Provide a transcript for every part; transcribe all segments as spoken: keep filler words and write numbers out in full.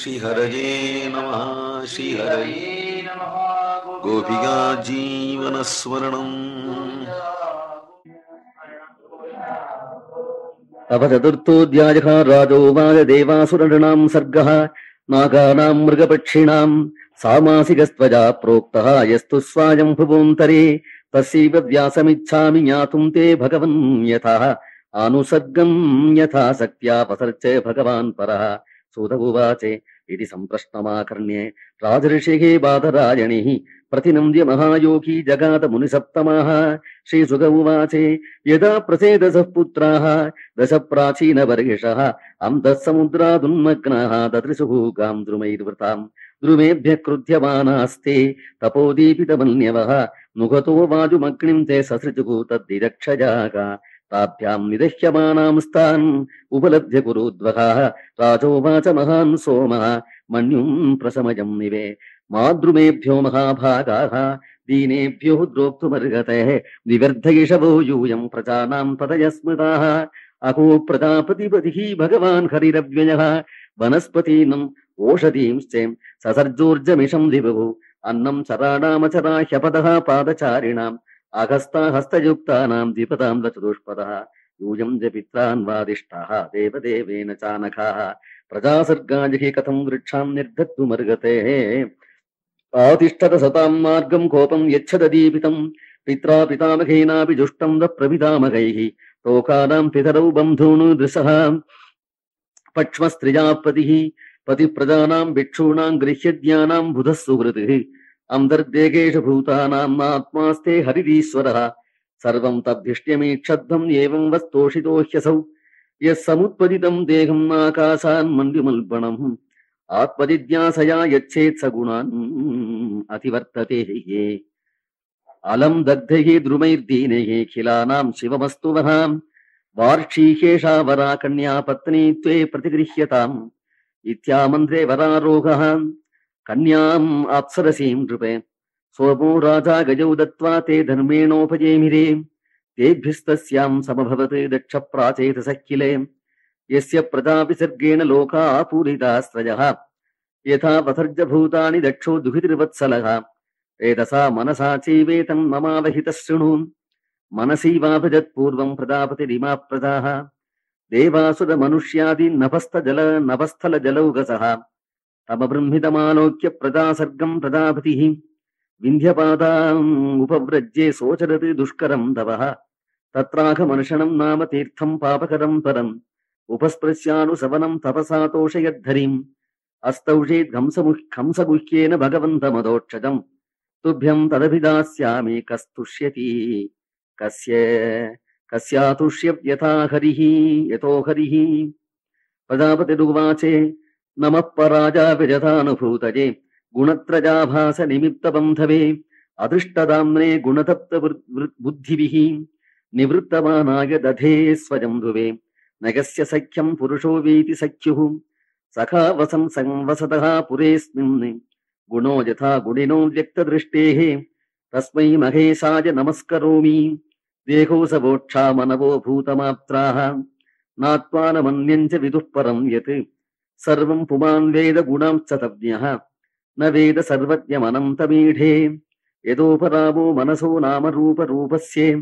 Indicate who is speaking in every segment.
Speaker 1: श्रीहरये नमः श्रीहरये नमः गोपिका जीवनस्मरणम्
Speaker 2: तव चतुर्थोऽध्यायः राजोवाच देवासुरनृणां सर्गः नागानां मृगपक्षिणां सामासिकस्त्वजा प्रोक्तः यस्तु स्वायं भुवोऽन्तरे तस्यैव व्यासमिच्छामि ज्ञातुं ते भगवन् यथाः आनुसर्गं यथा शक्त्या पसर्च भगवान् परः सूत उवाच इति सम्प्रश्नमाकर्ण्ये राजऋषिः बादरायणिः प्रतिनन्द्य महायोगी जगात मुनिसप्तमाः श्रीसुक उवाच यदा प्रसेदसः पुत्राः दश प्राचीनवर्गिषः अन्तः समुद्रादुन्मग्नाः ददृशुः गां द्रुमैर्वृताम् द्रुमेभ्यः क्रुध्यमानास्ते तपोदीपितमन्यवः मुखतो वाजुमग्निं ते ससृजुः तद्दिदक्षजागा ताभ्यां निदह्यमानां स्तान् उपलभ्य कुरुद्वः राजोवाच महान् सोमः मन्युं प्रशमयं निवे माद्रुमेभ्यो महाभागाः दीनेभ्यो द्रोक्तुमर्हतः विवर्धयिषवो यूयं प्रजानां पदय स्मृताः अहो प्रजापतिपतिः भगवान् हरिरव्ययः वनस्पतीनाम् ओषधींश्च ससर्जोर्जमिषं दिवुः अन्नं चराणामचरा ह्यपदः पादचारिणाम् अगस्ता हस्तयुक्तानां द्विपदां चतुष्पदः यूयं च पित्रान् वादिष्ठाः देवदेवेन चानखाः प्रजासर्गाजिः कथं वृक्षां निर्धत्तुमर्हतेः आतिष्ठत सतां मार्गं कोपं यच्छददीपितं पित्रा पितामहेनापि जुष्टं द प्रपितामहैः लोकानां पितरौ बन्धून् दृशः पक्ष्मस्त्रिजापतिः पतिप्रजानां भिक्षूणां गृह्यज्ञानां बुधः सुहृतिः अन्तर्देहेषु भूतानाम् आत्मास्ते हरिरीश्वरः सर्वं तद्धिष्ट्यमीक्षद्धम् एवं वस्तोषितो ह्यसौ यः समुत्पदितं देहम् आकाशान् मण्डुमल्बणम् आत्मजिज्ञासया यच्छेत् स गुणान् अतिवर्तते ये अलं दग्धैः द्रुमैर्दीनैः खिलानां शिवमस्तु वहाम् वार्षीकेशा वरा कन्या पत्नी त्वे प्रतिगृह्यताम् इत्यामन्त्रे वरारोहः कन्याम् अप्सरसीं नृपे सोमो राजा गजौ दत्त्वा ते धर्मेणोपजेमिरे तेभ्यस्तस्यां समभवत् दक्ष प्राचेतसखिले यस्य प्रजाविसर्गेण लोका पूरितास्त्रयः यथा पथर्जभूतानि दक्षो दुहितृवत्सलः एतसा मनसा चैवेतं ममावहितः शृणु मनसैवाभजत्पूर्वं प्रजापतिरिमा प्रजाः देवासुरमनुष्यादि नभस्थजल नभस्थलजलौघसः तमबृंहितमालोक्य प्रजासर्गं प्रजापतिः विन्ध्यपादाम् उपव्रज्ये सोचरत् दुष्करं तवः तत्राघमर्षणं नाम तीर्थं पापकरं परम् उपस्पृश्यानुसवनं तपसा तोषयद्धरिम् अस्तौषेत् हंसगुह्येन भगवन्तमदोक्षजम् तुभ्यं तदभिदास्यामि कस्तुष्यति कस्य कस्यातुष्यत्यथा हरिः यतो हरिः प्रजापतिरुवाचे नमः पराजा विजतानुभूतये गुणत्रजाभास निमित्तबन्धवे अदृष्टदाम्ने गुणतप्त बुद्धिभिः निवृत्तमानाय दधे स्वजम्भुवे नगस्य सख्यं पुरुषो वीति सख्युः सखा वसन् संवसतः पुरेऽस्मिन् गुणो यथा गुणिनो व्यक्तदृष्टेः तस्मै महेशाय नमस्करोमि देहो सवोक्षा मनवो भूतमाप्त्राः नात्मानमन्यं च विदुः परं यत् सर्वं पुमान् वेद गुणांश्च तज्ञः न वेद सर्वज्ञमनन्तमीढे यदोपरामो मनसो नामरूपरूपस्य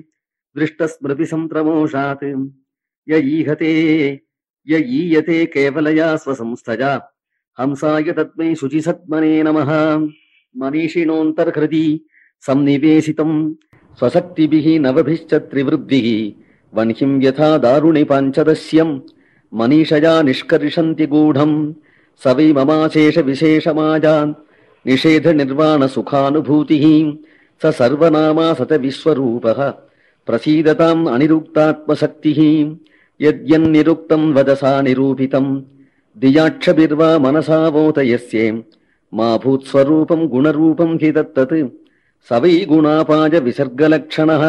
Speaker 2: दृष्टस्मृतिसंत्रमोषात् य ईहते य ईयते केवलया स्वसंस्थया हंसाय तस्मै शुचिसत्मने नमः मनीषिणोऽन्तर्हृदि सन्निवेशितं स्वशक्तिभिः नवभिश्च त्रिवृद्धिः वह्निं यथा दारुणि पाञ्चदस्यं मनीषया निष्कर्षन्ति गूढं स वै ममाशेष विशेषमाजान् निषेध निर्वाण सुखानुभूतिः स सर्वनामा सत विश्वरूपः प्रसीदताम् अनिरुक्तात्मशक्तिः यद्यन्निरुक्तं वदसा निरूपितं दियाक्षभिर्वा मनसा वोतयस्ये मा भूत्स्वरूपं गुणरूपं हि तत्तत् स वै गुणापाय विसर्गलक्षणः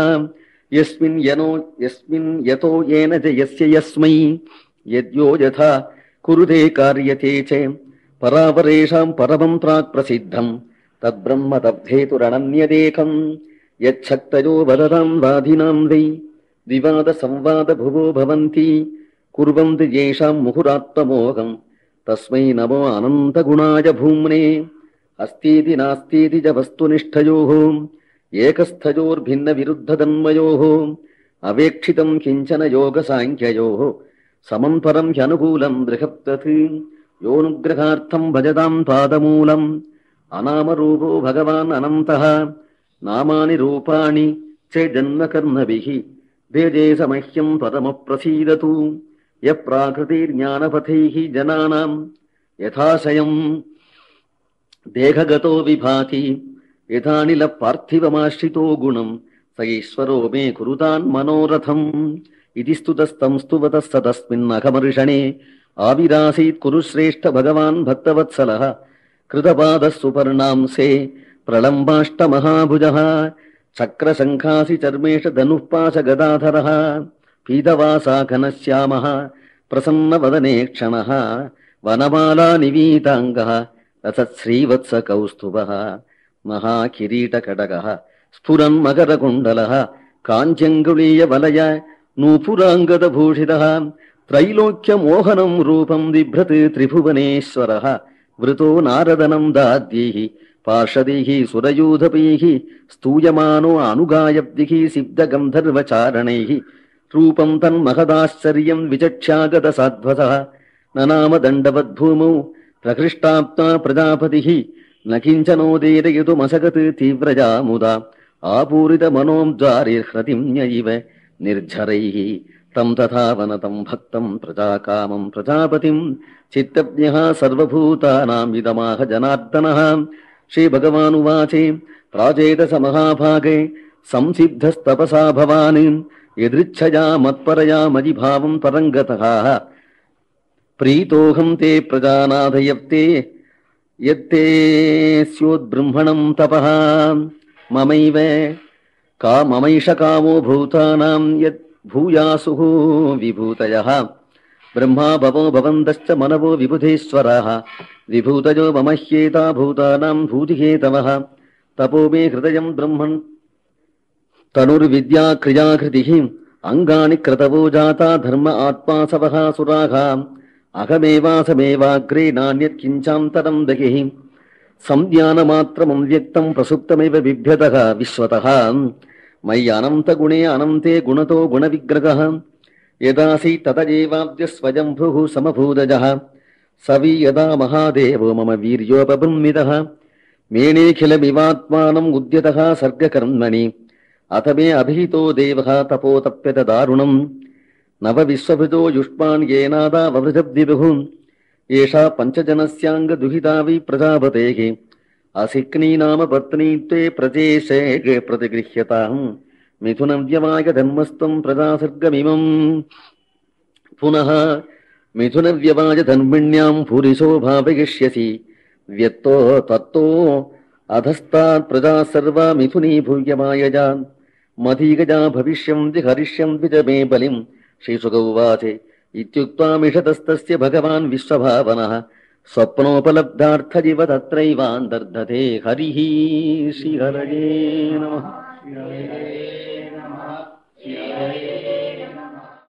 Speaker 2: यस्मिन् यनो यस्मिन् यतो येन च यस्य यस्मै यद्यो यथा कुरुते कार्यते च परापरेषां परमं प्राक् प्रसिद्धं तद्ब्रह्म तद्धेतुरणन्यदेकं यच्छक्तयो वदतां वादिनां वै विवाद संवाद भुवो भवन्ति कुर्वन्ति येषां मुहुरात्ममोहं तस्मै नमो अनन्तगुणाय भूम्ने अस्तीति नास्तीति च वस्तुनिष्ठयोः एकस्थयोर्भिन्नविरुद्धधन्मयोः अवेक्षितं किञ्चन योगसाङ्ख्ययोः समं परं ह्यनुकूलं बृहत्तत् योऽनुग्रहार्थं भजतां पादमूलम् अनामरूपो भगवान् अनन्तः नामानि रूपाणि च जन्मकर्मभिः भेजे समह्यं पदमप्रसीदतु यः प्राकृतिर्ज्ञानपथैः जनानां यथाशयम् देहगतो विभाति यथानिल पार्थिवमाश्रितो गुणम् स ईश्वरो मे कुरुतान् मनोरथम् इति स्तुतस्तं स्तुवतः स तस्मिन्नघमर्षणे आविरासीत् कुरु श्रेष्ठ भगवान् भक्तवत्सलः कृतपादः सुपर्णांसे प्रलम्बाष्टमहाभुजः चक्रशङ्खासि चर्मेश धनुः पाशगदाधरः पीतवासा घनश्यामः प्रसन्नवदने क्षणः वनमाला निवीताङ्गः रसश्रीवत्सकौस्तुभः महाकिरीटकटकः स्फुरन् मकरकुण्डलः काञ्चङ्गुलीयवलय नूपुराङ्गदभूषितः त्रैलोक्यमोहनं रूपं बिभ्रत् त्रिभुवनेश्वरः वृतो नारदनं दाद्यैः पार्षदैः सुरयूधपैः स्तूयमानो अनुगायब्धिः सिद्धगन्धर्वचारणैः रूपं तन्महदाश्चर्यं विचक्ष्यागतसाध्वसः ननाम दण्डवद्भूमौ प्रकृष्टाप्ता प्रजापतिः न किञ्चनोदीरयितुमसगत् तीव्रजा मुदा आपूरितमनोद्वारिर्हृतिम्यैव निर्झरैः तं तथा वनतं भक्तं प्रजाकामं प्रजापतिं चित्तज्ञः सर्वभूतानां इदमाह जनार्दनः श्रीभगवानुवाचे प्राचेतस महाभागे संसिद्धस्तपसा भवान् यदृच्छया मत्परया मयिभावं परङ्गतः प्रीतोऽहं ते प्रजानाथयत्ते यत्ते स्योद्ब्रह्मणं तपः ममैव का ममैष कामो भूतानां यत् भूयासुः विभूतयः ब्रह्मा भवो भवन्तश्च मनवो विबुधेश्वराः विभूतयो मम ह्येता भूतानां भूतिहेतवः तपो मे हृदयं ब्रह्मन् तनुर्विद्या क्रियाकृतिः अङ्गानि क्रतवो जाता धर्म आत्मासवः सुराः अहमेवासमेवाग्रे नान्यत् किञ्चान्तरं दहिः संज्ञानमात्रमव्यक्तं प्रसुप्तमेव बिभ्यतः विश्वतः मयि अनन्तगुणे अनन्ते गुणतो गुणविग्रहः यदासि ततजेवाद्य स्वयंभुः समभूतजः सवि यदा महादेवो मम वीर्योपबृंहितः मेनेऽखिलमिवात्मानम् उद्यतः सर्गकर्मणि अथ मे अभिहितो देवः तपोतप्यत दारुणम् नवविश्वभृतो युष्मान् येनादा ववृजद्विदुः एषा पञ्चजनस्याङ्गदुहिता वि प्रजापतेः असिक्नी नाम पत्नी त्वे प्रजेशे प्रतिगृह्यताम् मिथुनव्यवाय धर्मस्त्वं प्रजासर्गमिमम् पुनः मिथुनव्यवाय धर्मिण्यां पुरिशो भावयिष्यसि व्यत्तो तत्तो अधस्तात् प्रजा सर्वा मिथुनी भूयमायजा मधीगजा भविष्यन्ति हरिष्यन्ति च मे बलिम् श्रीशुक उवाच इत्युक्त्वा मिषतस्तस्य भगवान् विश्वभावनः स्वप्नोपलब्धार्थजिव तत्रैवान्तर्धते हरिः श्रीहरये नमः।